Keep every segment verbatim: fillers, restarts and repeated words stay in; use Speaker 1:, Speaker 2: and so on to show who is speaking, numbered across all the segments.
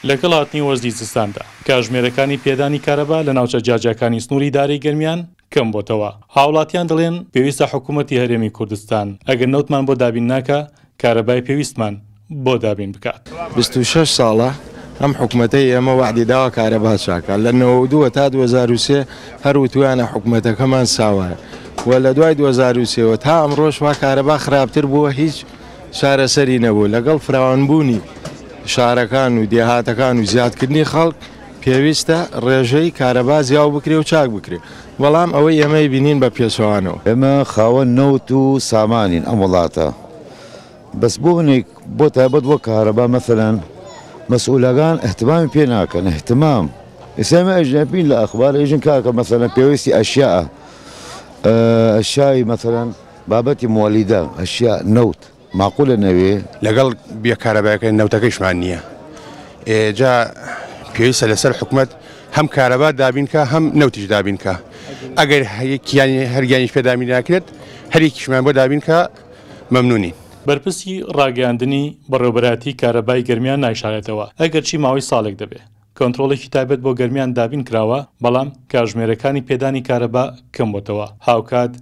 Speaker 1: لەگەڵ هاتنی وەرزی زستاندا کاتژمێرەکانی پێدانی کارەبا لە ناوچە جیاجیاکانی سنووری ئیدارەی گەرمیان کەم بۆتەوە. هاوڵاتیان دەڵێن پێویستە حکوومەتی هەرێمی کوردستان ئەگەر نەوتمان بۆ دابین ناکا کارەبای پێویستمان بۆ دابین بکات.
Speaker 2: بیست و شەش ساڵە ئەم حکومەتەی ئێمە وعدی داوە کارەبا چاکە لە نەوەد و دوو تا دوو هەزار و سێ هەر وتویانە حکومەتەکەمان ساوایە و لە دوای دوو هەزار و سێوە تا ئەمڕۆش وا کارەبا خراپتر بووە، هیچ چارەسەری نەبوو. لەگەڵ فراوانبوونی شارەکان و دێهاتەکان و زیادکردنی خەڵک پێویستە ڕێژەی کارەبا زیاو بکرێ و چاک بکرێ، بەڵام ئەوەی ئێمەی بینین بە پێچەوانەوە.
Speaker 3: ئێمە خاوەن نەوت و سامانین ئەم وڵاتە، بەس بۆ هەنێک بۆ تایبەت بۆ کارەبا مەثەلەن مەسئولەکان اهتمامی پێ ناکەن. اهتمام ئێستا ئێمە ئەژنەبین لە ئەخبار ئێژن کاکە مەثەلەن پێویستی ئەشیاء ئەشیای مەثەلەن بابەتی مۆلیدە ئەشیا نەوت معقولە نەوێ.
Speaker 4: لەگەڵ بێکارەبایەکە نەوتەکەیشمان نییە، جا پێویستە لەسەر حکومەت هەم کارەبا دابینکە هەم نەوتیش دابینکە. ئەگەر هەرگیانیش پێ دابین ناکرێت هەرێکیشمان بۆ دابینکە مەمنونین.
Speaker 1: بەرپرسی ڕاگەیاندنی بەڕێوەبەرایەتی کارەبای گەرمیان نایشارێتەوە ئەگەرچی ماوەی ساڵێک دەبێت کۆنترۆڵێکی تایبەت بۆ گەرمیان دابین کراوە، بەڵام کاتژمێرەکانی پێدانی کارەبا کەم بۆتەوە. هاوکات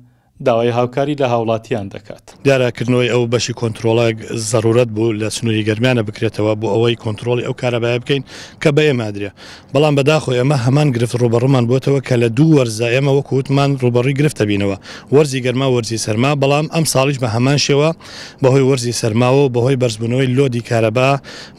Speaker 1: داوای هاوکاری لە هاوڵاتیان دەکات.
Speaker 5: دیارەکردنەوەی ئەو بەشی کۆنترۆڵە زەرورەت بوو لە سنووری گەرمیانە بکرێتەوە بۆ ئەوەی کۆنترۆڵی ئەو کارەبایە بکەین کە بە ئێمە درێ، بەڵام بەداخۆ ئێمە هەمان گرفت ڕوبەڕومان بۆتەوە کە لە دوو وەرزە ئێمە وەکو وتمان ڕوبەڕووی گرفتە بینەوە، وەرزی گەرما وەرزی سەرما، بەڵام ئەم ساڵیش بە هەمان شێوە بەهۆی وەرزی سەرماوە و بەهۆی بەرزبوونەوەی لۆدی کارەبا،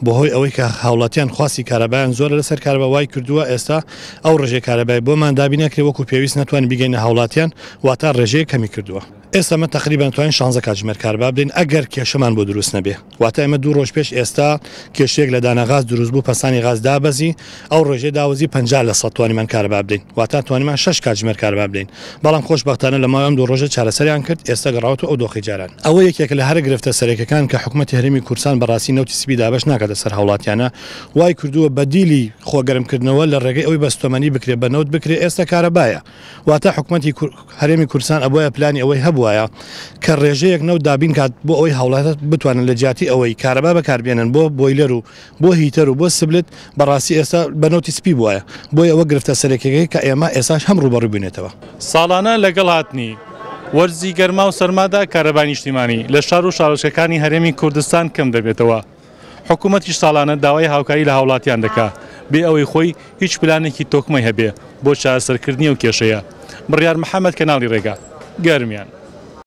Speaker 5: بەهۆی ئەوەی کە هاوڵاتیان خواستی کارەبایان زۆرە لەسەر کارەبا وای کردووە ئێستا ئەو ڕێژەی کارەبای بۆمان دابین نەکرێ وەکو پێویست نەتوانین بیگەینە هاوڵاتیان، واتە ڕێژەیە کەمی کردووە. ئێستا مە تقریبا توانین شانزە کاتژمێر کارەبا بدەین ئەگەر کێشەمان بۆ دروست نەبێ. واتە ئێمە دوو ڕۆژ پێش ئێستا کێشەیەک لە دانە غاز دروست بوو، پەسانی غاز دابەزی، ئەو ڕێژەی داوەزی پەنجا لە سەد توانیمان کارەبا بدەین، واتە توانیمان شەش کاتژمێر کارەبا بدەین، بەڵام خۆشبەختانە لە ماوەی ئەم دوو ڕۆژە چارەسەریان کرد، ئێستا گەڕاوەتەوە ئەو دۆخی جاران. ئەوە یەکێکە لە هەرە گرفتە سەرەکیەکان کە حکوومەتی هەرێمی کوردستان بەڕاستی نەوتی سپی دابەش ناکاتە سەر هاوڵاتیانە، وای کردووە بەدیلی خۆگەرمکردنەوە لە ڕێگەی ئەوەی بەستۆمەنی بکرێ بە نەوت بکرێ ئێستا کارەبایە. واتە حکوومەتی هەرێمی کوردستان ئەبوایە پلانی ئەوەی هەبوایە کە ڕێژەیەک نەوت دابین کات بۆ ئەوەی هاوڵاتیان بتوانن لە جیاتی ئەوەی کارەبا بەکاربێنن بۆ بۆیلەر و بۆ هیتەر و بۆ سبلت، بەڕاستی ئێستا بە نەوتی سپی بوایە. بۆیە ئەوە گرفتە سەرەکیەکەی کە ئێمە ئێستاش هەم ڕووبەڕوو بووینێتەوە.
Speaker 1: ساڵانە لەگەڵ هاتنی وەرزی گەرما و سەرمادا کارەبای نیشتیمانی لە شار و شارۆچکەکانی هەرێمی کوردستان کەم دەبێتەوە. حکوومەتیش ساڵانە داوای هاوکاری لە هاوڵاتیان دەکا بێ ئەوەی خۆی هیچ پلانێکی تۆکمەی هەبێ بۆ چارەسەرکردنی ئەو کێشەیە. بڕیار محەممەد، کەناڵی ڕێگا، گەرمیان.